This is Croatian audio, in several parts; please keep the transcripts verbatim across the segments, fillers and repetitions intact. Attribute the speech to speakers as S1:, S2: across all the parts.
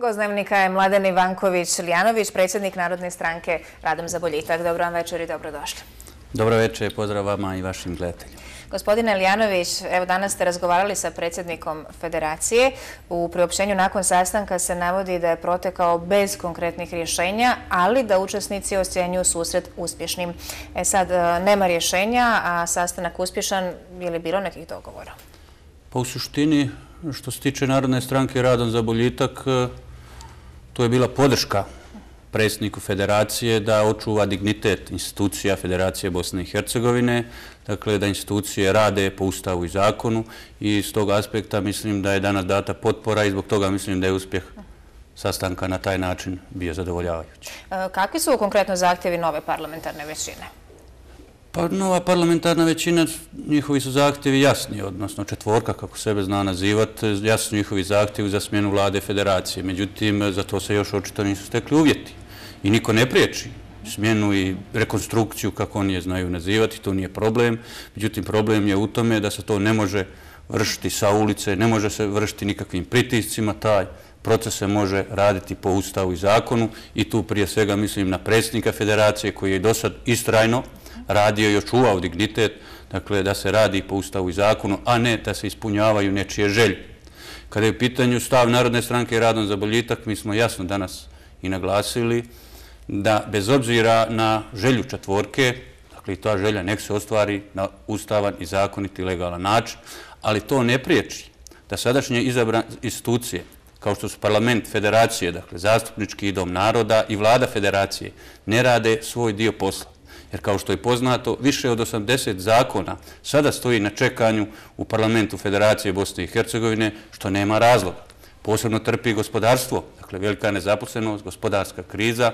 S1: Gost Dnevnika je Mladen Ivanković-Lijanović, predsjednik Narodne stranke Radom za boljitak. Dobro vam večer i dobrodošli.
S2: Dobro večer, pozdrav vama i vašim gledateljima.
S1: Gospodine Lijanović, evo danas ste razgovarali sa predsjednikom Federacije. U priopćenju nakon sastanka se navodi da je protekao bez konkretnih rješenja, ali da učesnici ocjenjuju susret uspješnim. E sad, nema rješenja, a sastanak uspješan, je li bilo nekih dogovora?
S2: Pa u suštini, što se tiče Narodne stranke Radom za boljitak, to je bila podrška predsjedniku Federacije da očuva dignitet institucija Federacije Bosne i Hercegovine, dakle da institucije rade po Ustavu i zakonu i iz tog aspekta mislim da je danas data potpora i zbog toga mislim da je uspjeh sastanka na taj način bio zadovoljavajući.
S1: Kakvi su konkretno zahtjevi nove parlamentarne većine?
S2: Pa nova parlamentarna većina, njihovi su zahtjevi jasni, odnosno četvorka, kako sebe zna nazivati, jasni su njihovi zahtjevi za smjenu vlade Federacije. Međutim, za to se još očito nisu stekli uvjeti. I niko ne priječi smjenu i rekonstrukciju, kako oni je znaju nazivati, to nije problem. Međutim, problem je u tome da se to ne može vršiti sa ulice, ne može se vršiti nikakvim pritiscima, taj proces se može raditi po Ustavu i zakonu i tu prije svega mislim na predsjednika Federacije koji je do sad istrajno radio i očuvao dignitet, dakle da se radi po Ustavu i zakonu, a ne da se ispunjavaju nečije želje. Kada je u pitanju stav Narodne stranke Radom za boljitak, mi smo jasno danas i naglasili da bez obzira na želju četvorke, dakle i ta želja nek se ostvari na ustavan i zakonit i legalan način, ali to ne priječi da sadašnje izabrane institucije, kao što su parlament Federacije, dakle zastupnički dom naroda i vlada Federacije, ne rade svoj dio posla. Jer kao što je poznato, više od osamdeset zakona sada stoji na čekanju u parlamentu Federacije Bosne i Hercegovine, što nema razloga. Posebno trpi gospodarstvo, dakle velika nezaposlenost, gospodarska kriza.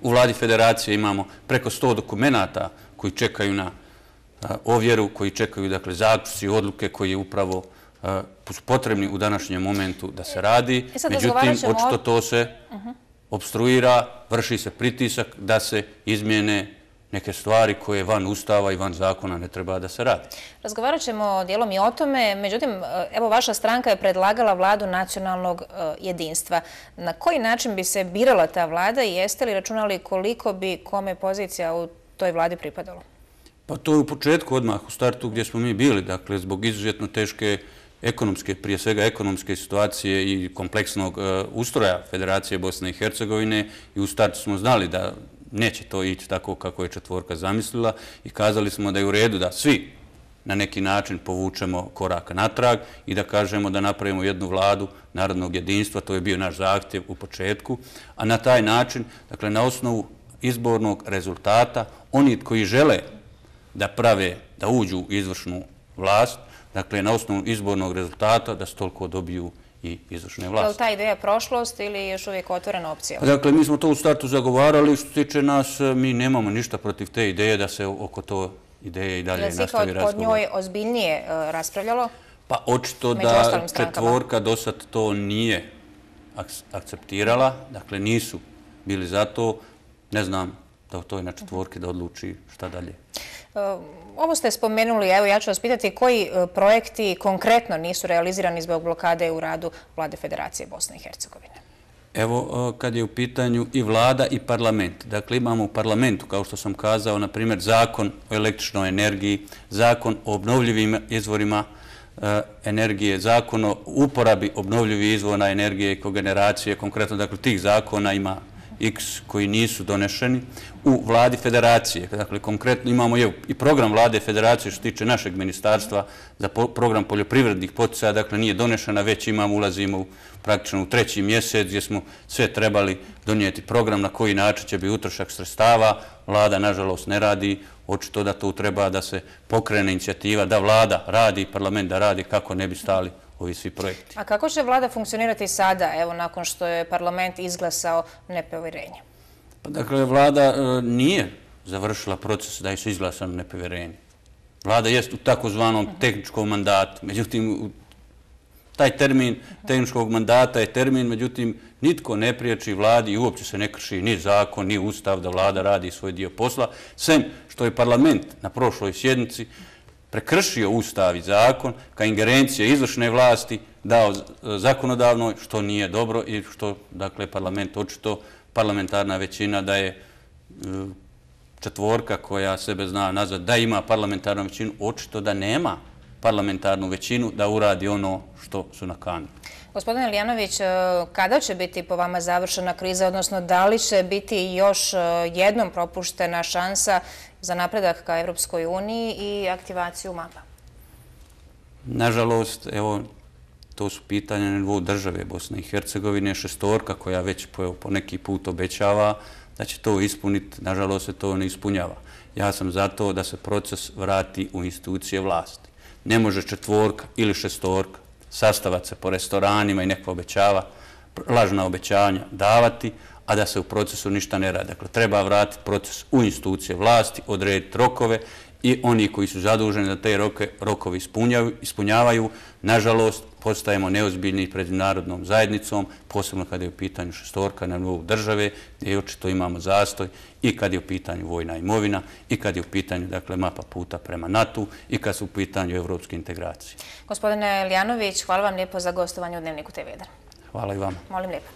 S2: U vladi Federacije imamo preko sto dokumenata koji čekaju na ovjeru, koji čekaju dakle zaključci i odluke koji je upravo su potrebni u današnjem momentu da se radi. Međutim, očito to se opstruira, vrši se pritisak da se izmijene neke stvari koje van Ustava i van zakona ne treba da se radi.
S1: Razgovarat ćemo dijelom i o tome, međutim, evo vaša stranka je predlagala vladu nacionalnog jedinstva. Na koji način bi se birala ta vlada i jeste li računali koliko bi kome pozicija u toj vladi pripadalo?
S2: Pa to je u početku odmah, u startu gdje smo mi bili, dakle zbog izuzetno teške ekonomske, prije svega ekonomske situacije i kompleksnog ustroja Federacije Bosne i Hercegovine i u startu smo znali da neće to ići tako kako je četvorka zamislila i kazali smo da je u redu da svi na neki način povučemo korak natrag i da kažemo da napravimo jednu vladu narodnog jedinstva, to je bio naš zahtjev u početku, a na taj način, dakle na osnovu izbornog rezultata, oni koji žele da prave, da uđu u izvršnu vlast, dakle, na osnovu izbornog rezultata da se toliko dobiju i izvršne vlasti.
S1: Je li ta ideja prošlost ili još uvijek otvorena opcija?
S2: Dakle, mi smo to u startu zagovarali. Što se tiče nas, mi nemamo ništa protiv te ideje da se oko to ideje i dalje nastavi razgovor.
S1: Je li se kod njoj ozbiljnije raspravljalo?
S2: Pa očito da četvorka do sad to nije akceptirala. Dakle, nisu bili za to. Ne znam da u toj na četvorki da odluči šta dalje.
S1: Ovo ste spomenuli, evo ja ću vas pitati koji projekti konkretno nisu realizirani zbog blokade u radu vlade Federacije Bosne i Hercegovine?
S2: Evo, kad je u pitanju i vlada i parlament. Dakle, imamo u parlamentu, kao što sam kazao, na primjer, zakon o električnoj energiji, zakon o obnovljivim izvorima energije, zakon o uporabi obnovljivih izvora energije i kogeneracije. Konkretno, dakle, tih zakona ima X koji nisu donešeni u vladi Federacije. Dakle, konkretno imamo i program vlade Federacije što tiče našeg ministarstva za program poljoprivrednih poticaja, dakle nije donešena, već imamo, ulazimo praktično u treći mjesec gdje smo sve trebali donijeti program na koji način će biti utrošak sredstava. Vlada, nažalost, ne radi. Očito da tu treba da se pokrene inicijativa, da vlada radi, parlament da radi kako ne bi stali ovi svi projekti.
S1: A kako će vlada funkcionirati sada, evo, nakon što je parlament izglasao nepovjerenje?
S2: Pa dakle, vlada nije završila proces da je se izglasano nepovjerenje. Vlada jest u takozvanom tehničkom mandatu. Međutim, taj termin tehničkog mandata je termin, međutim, nitko ne priječi vladi i uopće se ne krši ni zakon, ni ustav da vlada radi svoj dio posla, sem što je parlament na prošloj sjednici prekršio ustav i zakon ka ingerencije izvršne vlasti dao zakonodavnoj, što nije dobro i što, dakle, parlament očito, parlamentarna većina da je četvorka koja sebe zna nazvat da ima parlamentarnu većinu, očito da nema parlamentarnu većinu da uradi ono što su nakanili.
S1: Gospodine Lijanović, kada će biti po vama završena kriza, odnosno da li će biti još jednom propuštena šansa za napredak ka Evropskoj uniji i aktivaciju mapa?
S2: Nažalost, evo, to su pitanja na nivou države Bosne i Hercegovine, šestorka koja već po neki put obećava da će to ispuniti, nažalost se to ne ispunjava. Ja sam za to da se proces vrati u institucije vlasti. Ne može četvorka ili šestorka sastavati se po restoranima i neko obećava, lažna obećanja davati, a da se u procesu ništa ne radi. Dakle, treba vratiti proces u institucije vlasti, odrediti rokove i oni koji su zaduženi da te rokovi ispunjavaju, nažalost, postajemo neozbiljni pred međunarodnom zajednicom, posebno kada je u pitanju šestorka na nivou države, gdje očito imamo zastoj i kad je u pitanju vojna imovina i kad je u pitanju, dakle, mapa puta prema NATO i kad su u pitanju evropske integracije.
S1: Gospodine Lijanović, hvala vam lijepo za gostovanje u Dnevniku te ve jedan.
S2: Hvala i vama.
S1: Molim lijepo.